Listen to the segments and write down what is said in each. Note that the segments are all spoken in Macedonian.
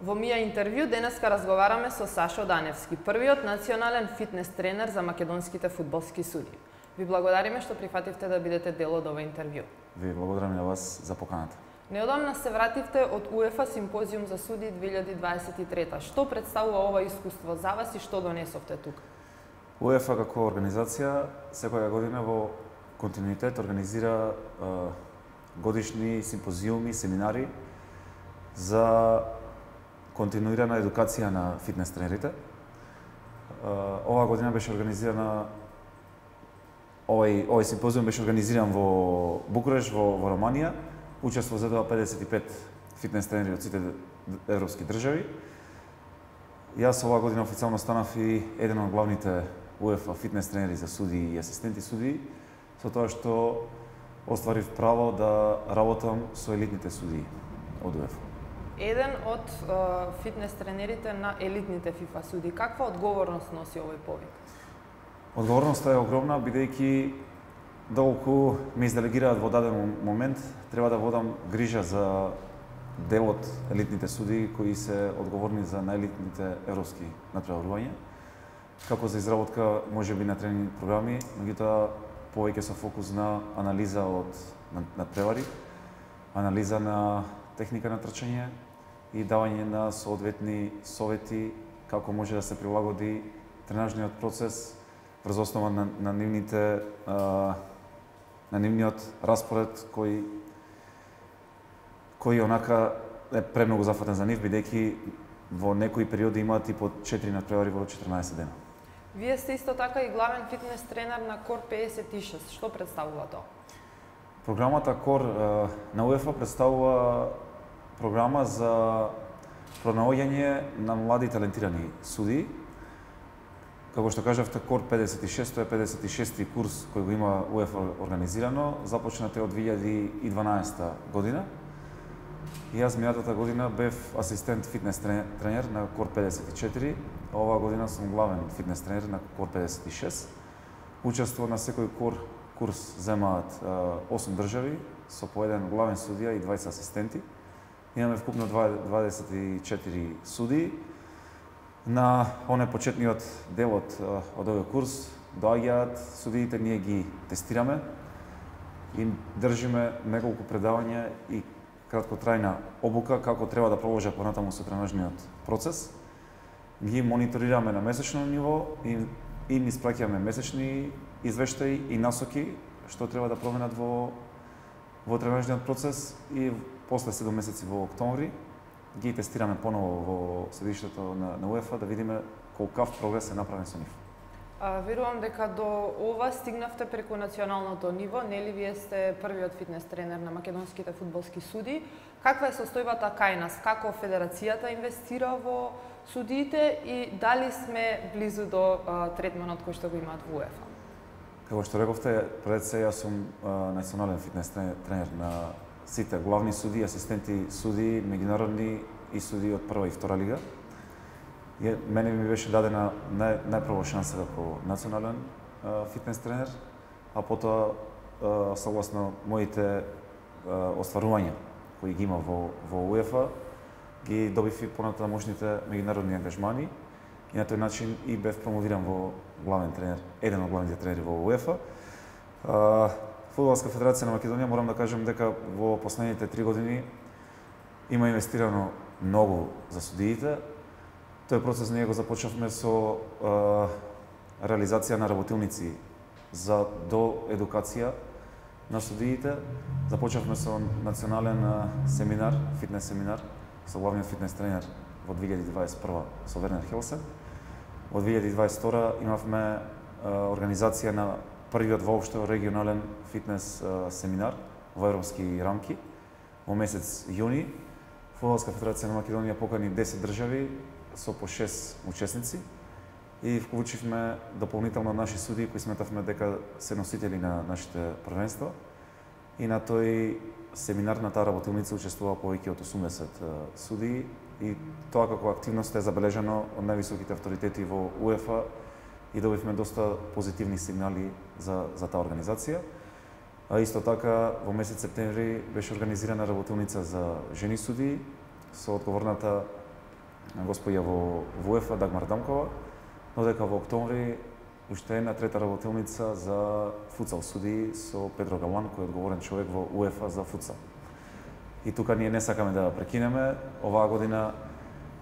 Во Мија интервју денеска разговараме со Сашо Даневски, првиот национален фитнес тренер за македонските фудбалски судии. Ви благодариме што прифативте да бидете дел од ова интервју. Ви благодарам на вас за поканата. Неодамна се вративте од УЕФА Симпозиум за судии 2023. Што представува ова искуство за вас и што донесовте тука? УЕФА како организација секоја година во континуитет организира годишни симпозиуми, семинари за континуирана едукација на фитнес тренерите. Оваа година беше организирана овој симпозиум беше организиран во Букуреш, во Романија. Учество за 55 фитнес тренери од сите европски држави. Јас оваа година официјално станав и еден од главните УЕФА фитнес тренери за судии и асистенти судии, со тоа што остварив право да работам со елитните судии од УЕФА. Еден од фитнес тренерите на елитните ФИФА судии. Каква одговорност носи овој повик? Одговорноста е огромна, бидејќи доколку ме изделегираат во даден момент, треба да водам грижа за дел од елитните судии кои се одговорни за најелитните европски натпреварувања, како за изработка можеби на тренинг програми, меѓутоа повеќе со фокус на анализа од натпревари, анализа на техника на трчање и давање на соодветни совети како може да се прилагоди тренажниот процес врз основа на нивниот распоред кој онака е премногу зафатен за нив, бидејќи во некои периоди имаат и по 4 натпревари во 14 дена. Вие сте исто така и главен фитнес тренер на Кор 56. Што представува тоа? Програмата Кор на УЕФА представува програма за пронаоѓање на млади талентирани судии. Како што кажавте, Кор 56 е 56-ти курс кој го има УЕФА организирано, започнат од 2012 година. И јас минатата година бев асистент фитнес тренер на Кор 54, а оваа година сум главен фитнес тренер на Кор 56. Учество на секој Кор курс земаат 8 држави со по еден главен судија и 20 асистенти. Имаме вкупно 24 судии. На оне почетниот дел од овој курс доаѓаат судиите, ние ги тестираме и држиме неколку предавања и краткотрајна обука како треба да проложат понатаму со тренажниот процес. Ги мониторираме на месечно ниво и им испраќаме месечни извештаи и насоки што треба да променат во тренажниот процес и после 7 месеци во октомври ги тестираме поново во седиштето на УЕФА да видиме колкав прогрес е направен со нив. Верувам дека до ова стигнавте преку националното ниво, нели вие сте првиот фитнес тренер на македонските фудбалски судии. Каква е состојбата кај нас? Како федерацијата инвестира во судиите и дали сме близу до третманот кој што го имаат во УЕФА? Како што рековте, пред се јас сум национален фитнес тренер на сите главни судии, асистенти судии, меѓународни и судии од прва и втора лига. Мене ми беше дадена најпрво шанса како национален фитнес тренер, а потоа согласно моите остварувања кои ги има во УЕФА, ги добив и понатамошните меѓународни ангажмани и на тој начин и бев промовиран во главен тренер, еден од главните тренери во УЕФА. Фудбалска федерација на Македонија, морам да кажем дека во последните 3 години има инвестирано многу за судиите. Тој процес ние го започнавме со реализација на работилници за доедукација на судиите. Започнавме со национален семинар, фитнес семинар, со главниот фитнес тренер во 2021 со Вернер Хелсен. Во 2022 имавме организација на првиот воопшто регионален фитнес семинар во европски рамки во месец јуни. Фудбалска федерација на Македонија покани 10 држави со по 6 учесници и вклучивме дополнително наши судии кои сметавме дека се носители на нашите првенства. И на тој семинар, на таа работилница учествува повеќе од 80 судии и тоа како активност е забележано од највисоките авторитети во УЕФА и добивме доста позитивни сигнали за таа организација. А исто така во месец септември беше организирана работилница за жени судии со одговорната господја во УЕФА Дагмар Дамкова, но дека во октомври уште една трета работилница за футсал суди со Педро Галан, кој е одговорен човек во УЕФА за футсал. И тука ние не сакаме да прекинеме. Оваа година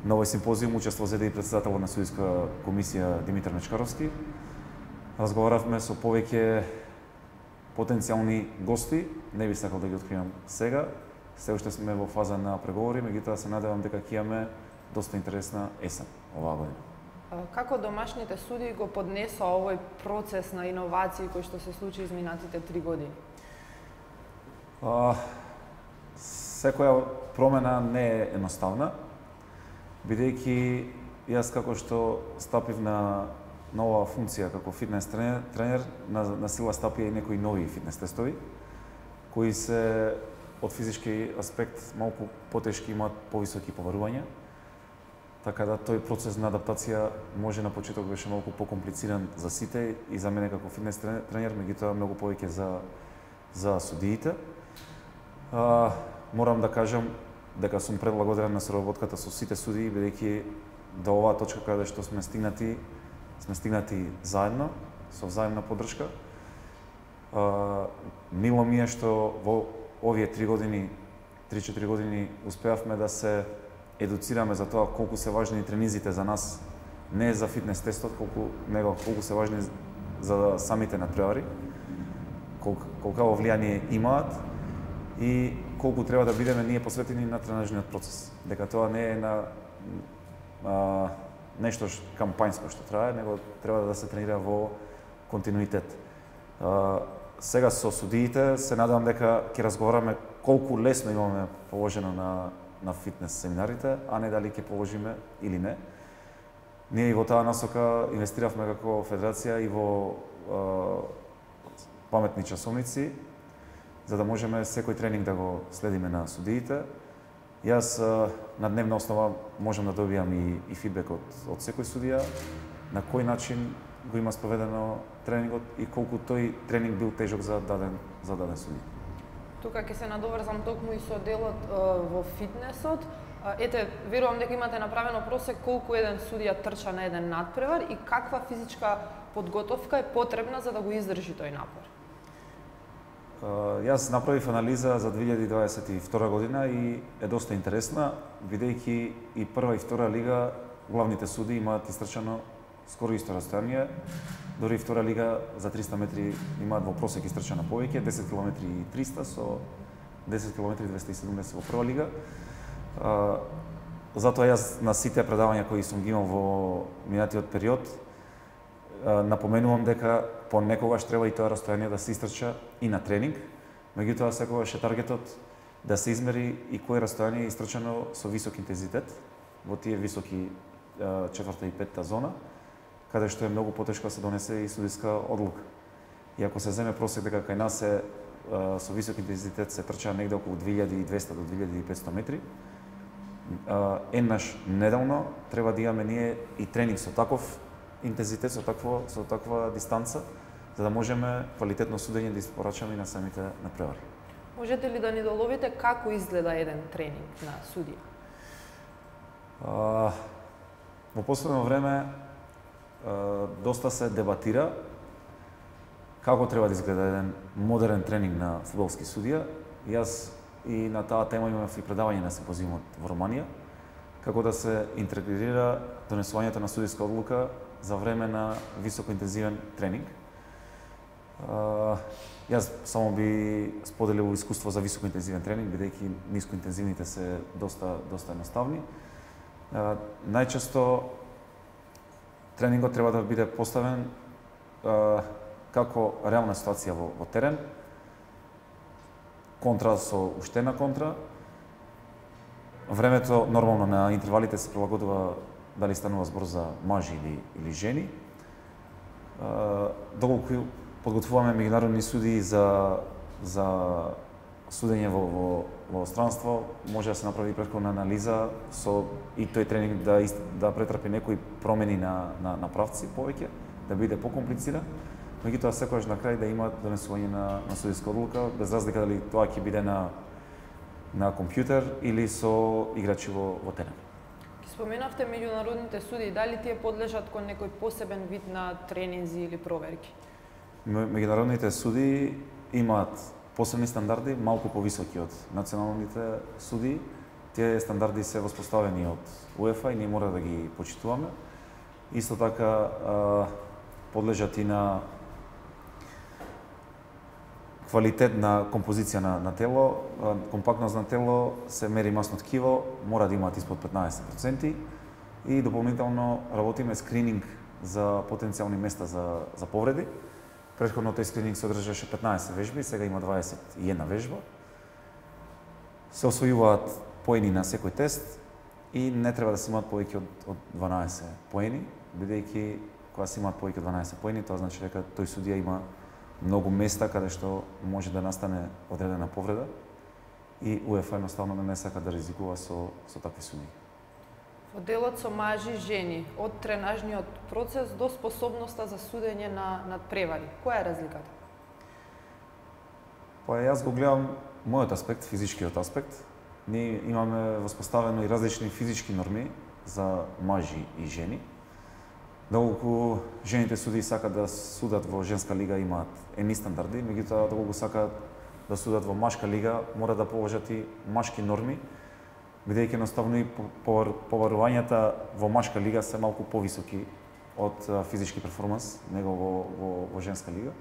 на овој симпозиум учество зеде и председателот на судиска комисија Димитар Мечкаровски. Разговаравме со повеќе потенцијални гости, не би сакал да ги откривам сега. Се уште сме во фаза на преговори, меѓутоа се надевам дека ќе имаме доста интересна есен оваа година. Како домашните суди го поднесоа овој процес на иновации кој што се случи изминатите 3 години? Секоја промена не е едноставна, бидејќи јас како што стапив на нова функција како фитнес тренер, на сила стапија и некои нови фитнес тестови, кои се од физички аспект малку потешки, имаат повисоки побарувања. Така да тој процес на адаптација може на почеток беше малку покомплициран за сите и за мене како фитнес тренер, меѓутоа многу повеќе за судиите. Морам да кажам дека сум преблагодарен на соработката со сите судии, бидејќи до оваа точка каде што сме стигнати заедно, со взаимна поддршка. Мило ми е што во овие 3-4 години успеавме да се едуцираме за тоа колку се важни тренизите за нас, не за фитнес тестот, колку се важни за самите надпревари, колкаво влијание имаат и колку треба да бидеме ние посветени на тренажниот процес. Дека тоа не е нешто кампањско што трае, него треба да се тренира во континуитет. Сега со судиите се надевам дека ќе разговараме колку лесно имаме положено на фитнес семинарите, а не дали ќе положиме или не. Ние и во таа насока инвестиравме како федерација и во паметни часовници, за да можеме секој тренинг да го следиме на судиите. Јас на дневна основа можам да добијам и фидбек од секој судија, на кој начин го има спроведено тренингот и колку тој тренинг бил тежок за даден судија. Тука ќе се надоврзам токму и со делот во фитнесот. Ете, верувам дека имате направено просек колку еден судија трча на еден надпревар и каква физичка подготовка е потребна за да го издржи тој напор. Јас направив анализа за 2022 година и е доста интересна, бидејќи и прва и втора лига главните суди имаат истрчано скоро исто растојание. Дори и втора лига за 300 метри имаат во просек истрчано повеќе, 10 км и 300 со 10 км и 270 во прва лига. Затоа јас на сите предавања кои сум ги имал во минатиот период напоменувам дека понекогаш треба и тоа растојание да се истрча и на тренинг, меѓутоа секогаш е таргетот да се измери и кое растојание е истрчано со висок интензитет во тие високи 4-та и 5-та зона, каде што е многу потешко да се донесе и судиска одлука. И ако се земе просек дека кај нас со висок интензитет се трча негде околу 2200 до 2500 метри, еднаш неделно треба да имаме ние и тренинг со таков интензитет, со таква дистанца, за да можеме квалитетно судење да испорачаме и на самите надпревари. Можете ли да ни доловите како изгледа еден тренинг на судија? Во последно време доста се дебатира како треба да изгледа еден модерен тренинг на фудбалски судија. Јас и на таа тема имав и предавање на симпозиумот во Романија, како да се интегрира донесувањето на судиска одлука за време на високоинтензивен тренинг. Јас само би споделил искуство за високоинтензивен тренинг, бидејќи нискоинтензивните се доста едноставни. Најчесто тренингот треба да биде поставен како реална ситуација во терен, контра со уште една контра. Времето нормално на интервалите се прилагодува дали станува збор за мажи или жени. Доколку подготвуваме меѓународни судии за судење во странство, може да се направи претходна анализа со и тој тренинг да претрпи некои промени на правци повеќе, да биде покомплициран, меѓутоа секогаш на крај да има донесување на судиска одлука, без разлика дали тоа ќе биде на компјутер или со играчи во терен. Ки споменавте меѓународните суди, дали тие подлежат кон некој посебен вид на тренинзи или проверки? Меѓународните суди имаат посебни стандарди, малку повисоки од националните суди. Тие стандарди се воспоставени од УЕФА и ние мора да ги почитуваме. Исто така подлежат и на квалитет на композиција на тело, компактност на тело, се мери масно ткиво, мора да имаат испод 15% и дополнително работиме скрининг за потенцијални места за повреди. Претходно тој скрининг се одржаше 15 вежби, сега има 21 вежба. Се освојуваат поени на секој тест и не треба да се имаат повеќе од 12 поени, бидејќи кога се имаат повеќе од 12 поени, тоа значи дека тој судија има многу места каде што може да настане одредена повреда и УЕФА едноставно не сака да ризикува со такви судии. Во делот со мажи и жени, од тренажниот процес до способноста за судење на надпревари, која е разликата? Па јас го гледам мојот аспект, физичкиот аспект. Ние имаме воспоставено и различни физички норми за мажи и жени. Доколку жените судии сакат да судат во женска лига имаат едни стандарди, меѓутоа доколку сакат да судат во машка лига мора да положат и машки норми, бидејќи едноставно и поварувањата во машка лига се малку повисоки од физички перформанс него во женска лига.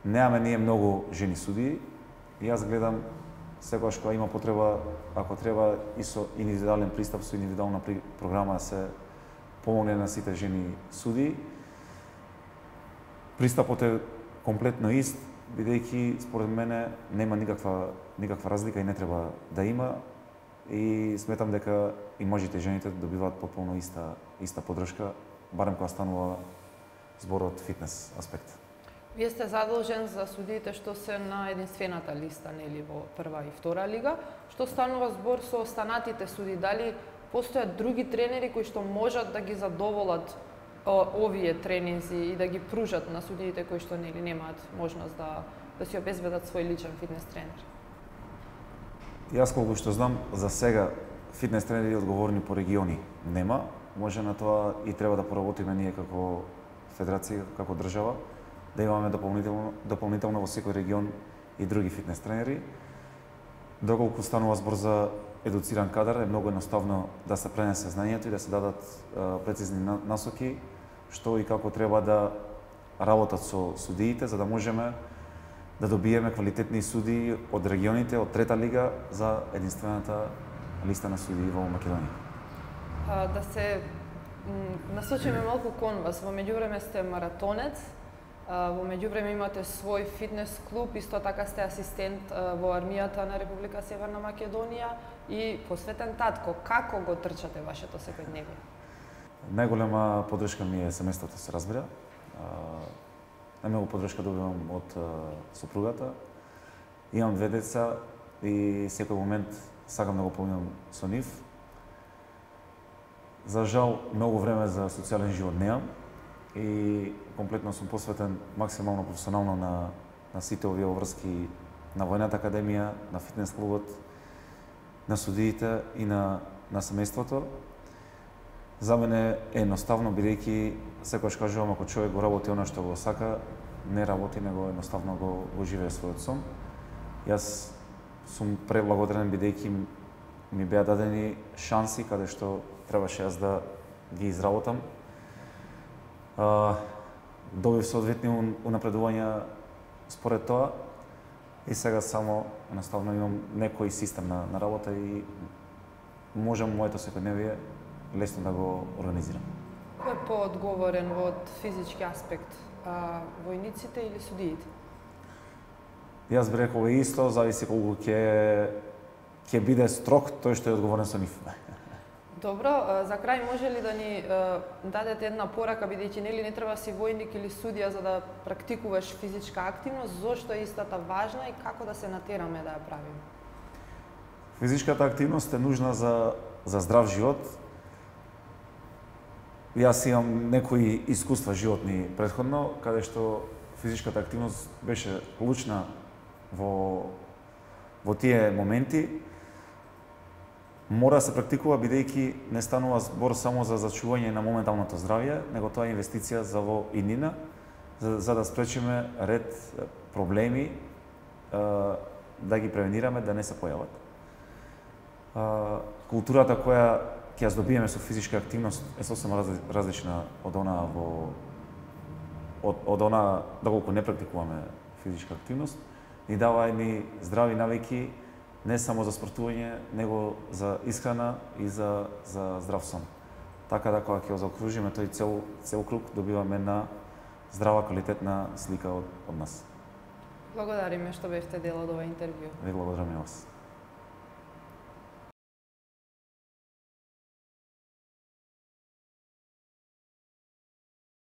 Немаме ние многу жени судии и јас гледам секогаш кога има потреба, ако треба и со индивидуален пристап, со индивидуална програма да се помогне на сите жени судии. Пристапот е комплетно ист, бидејќи според мене нема никаква разлика и не треба да има. И сметам дека и мажите и жените добиваат потполно иста поддршка, барем кога станува зборот фитнес аспект. Вие сте задолжен за судиите што се на единствената листа, нели, во прва и втора лига. Што станува збор со останатите суди? Дали постојат други тренери кои што можат да ги задоволат овие тренинзи и да ги пружат на судиите кои што нели немаат можност да си обезбедат свој личен фитнес тренер? Јас колку што знам, за сега фитнес тренери одговорни по региони нема. Може на тоа и треба да поработиме ние како федерација, како држава, да имаме дополнително во секој регион и други фитнес тренери. Доколку станува збор за едуциран кадар, е многу едноставно да се пренесе знанието и да се дадат прецизни насоки што и како треба да работат со судиите, за да можеме да добиеме квалитетни судии од регионите, од трета лига за единствената листа на судии во Македонија. Да се насочиме малку кон вас. Во меѓувреме сте маратонец, во меѓувреме имате свој фитнес клуб, исто така сте асистент во армијата на Република Северна Македонија и посветен татко. Како го трчате вашето секојдневие? Најголема поддршка ми е семејството, се разбира. Најмногу поддршка добивам од сопругата. Имам 2 деца и секој момент сакам да го поминам со нив. За жал, многу време за социјален живот немам и комплетно сум посветен максимално професионално на сите овие врски на Војната академија, на фитнес клубот, на судиите и на семејството. За мене е едноставно, бидејќи секогаш кажувам, ако човек го работи она што го сака, не работи, него едноставно го живее својот сон. Јас сум преблагодарен бидејќи ми беа дадени шанси каде што требаше јас да ги изработам. Добив соодветни унапредувања според тоа и сега само едноставно имам некој систем на работа и можам моето секојдневие лесно да го организирам. Кој е поодговорен од физички аспект, војниците или судиите? Јас би рекол исто, зависи колку ќе биде строг тој што е одговорен со нив. Добро, за крај може ли да ни дадете една порака, бидејќи нели не треба си војник или судија за да практикуваш физичка активност, зошто е истата важна и како да се натераме да ја правиме? Физичката активност е нужна за здрав живот. Јас имам некои искуства животни претходно, каде што физичката активност беше клучна во тие моменти. мора да се практикува бидејќи не станува збор само за зачување на моменталното здравје, него тоа е инвестиција за во иднина, за да спречиме ред проблеми, да ги превенираме да не се појават. Културата која ќе ја здобиеме со физичка активност е сосема различна од она доколку не практикуваме физичка активност, ни дава едни здрави навики не само за спортување, него за исхрана и за здрав сон. Така да кога ќе заокружиме тој цел круг, добиваме една здрава, квалитетна слика од нас. Благодариме што бевте дел од ова интервју. Ви благодарам и вас.